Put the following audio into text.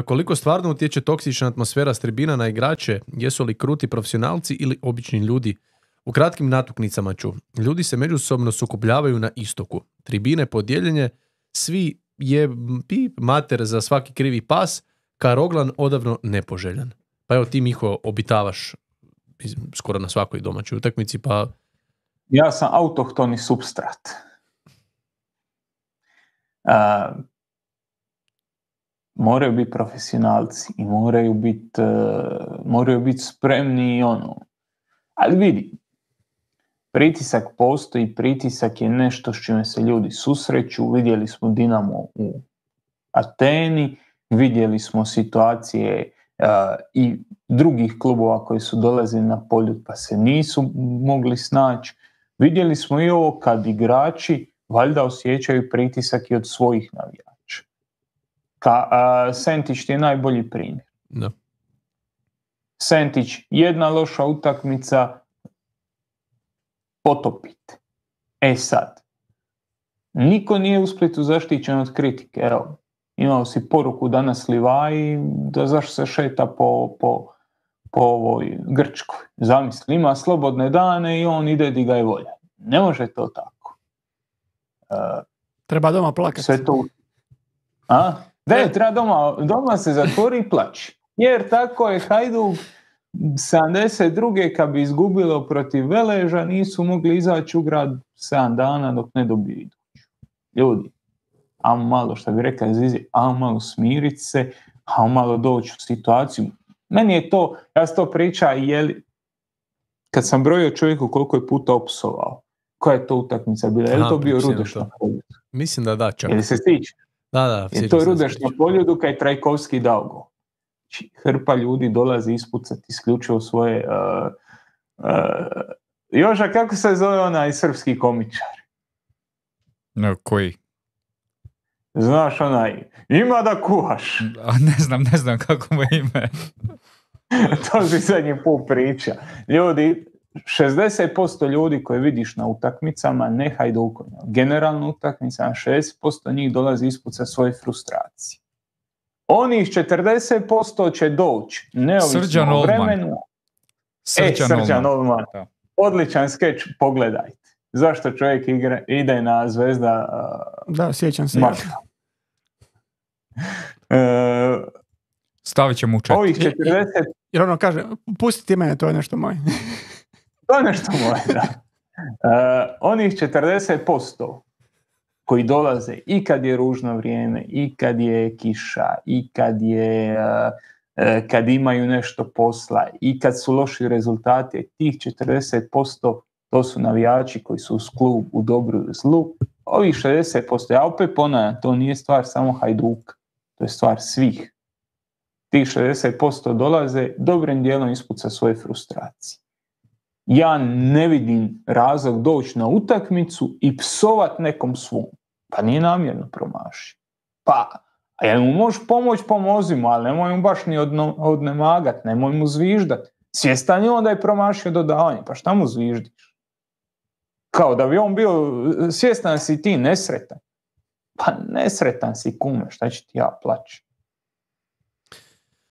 Koliko stvarno utječe toksična atmosfera s tribina na igrače? Jesu li kruti profesionalci ili obični ljudi? U kratkim natuknicama ću. Ljudi se međusobno sukobljavaju na istoku. Tribine podijeljenje, svi je mater za svaki krivi pas, Karoglan odavno nepoželjan. Pa evo ti, Miho, obitavaš skoro na svakoj domaćoj utakmici, pa... Ja sam autohtoni supstrat. Moraju biti profesionalci i moraju biti spremni ali vidi, pritisak postoji, pritisak je nešto s čime se ljudi susreću. Vidjeli smo Dinamo u Ateni, vidjeli smo situacije i drugih klubova koji su dolazili na Poljud pa se nisu mogli snaći. Vidjeli smo i ovo kad igrači valjda osjećaju pritisak i od svojih navijača. Sentić ti je najbolji primjer. No. Sentić, jedna loša utakmica, potopite. Sad, niko nije u Splitu zaštićen od kritike. Evo, imao si poruku danas Livaji da zašto se šeta po ovoj Grčkoj. Zamisli, ima slobodne dane i on ide di ga je volja. Ne može to tako. Treba doma plakati. Sve to... treba doma se zatvori i plaći. Jer tako je Hajduk 72. kad bi izgubilo protiv Veleža, nisu mogli izaći u grad 7 dana dok ne dobiju iduću. Ljudi, ajmo malo, što bi rekla Zizi, ajmo malo smiriti se, ajmo malo doći u situaciju. Meni je to, ja sam to priča, kad sam brojio čovjeku koliko je puta opsovao, koja je to utakmica bila, je li to bio Rudeš na Poljudu? Mislim da čak. Jel se stiče? Da, je to Rudeš na Poljudu kad je Trajkovski dao gol. Hrpa ljudi dolazi ispucati isključivo svoje... Joža, kako se zove onaj srpski komičar? No, koji? Znaš onaj, ima da kuhaš. Ne znam kako mu je ime. To si zadnji put priča. Ljudi, 60% ljudi koje vidiš na utakmicama, ne Hajdukovima, generalno utakmicama, 60% njih dolazi ispucati svoje frustracije. Onih 40% će doći, neovisno o vremenu. Srđan Olman. Odličan skeč, pogledajte. Zašto čovjek ide na Zvezda? Da, sjećam se. Stavit ćemo u chat. Ovih 40... Jer ono kaže, pustite mene, to je nešto moje. To je nešto moje, da. Onih 40% koji dolaze i kad je ružno vrijeme, i kad je kiša, i kad imaju nešto posla, i kad su loši rezultati, tih 40% to su navijači koji su uz klub u dobru i zlu. Ovih 60%, ja opet ponavljam, to nije stvar samo Hajduka, to je stvar svih. Tih 60% dolaze dobrim dijelom ispuca svoje frustracije. Ja ne vidim razlog doći na utakmicu i psovat nekom svom. Pa nije namjerno promaši. Pa, a jel mu možeš pomoći, pomozi mu, ali nemoj mu baš ni odnemagat, nemoj mu zviždat. Svjestan je on da je promašio dodavanje, pa šta mu zviždiš? Kao da bi on bio, svjestan si ti nesretan. Pa nesretan si, kume, šta će ti ja plaći?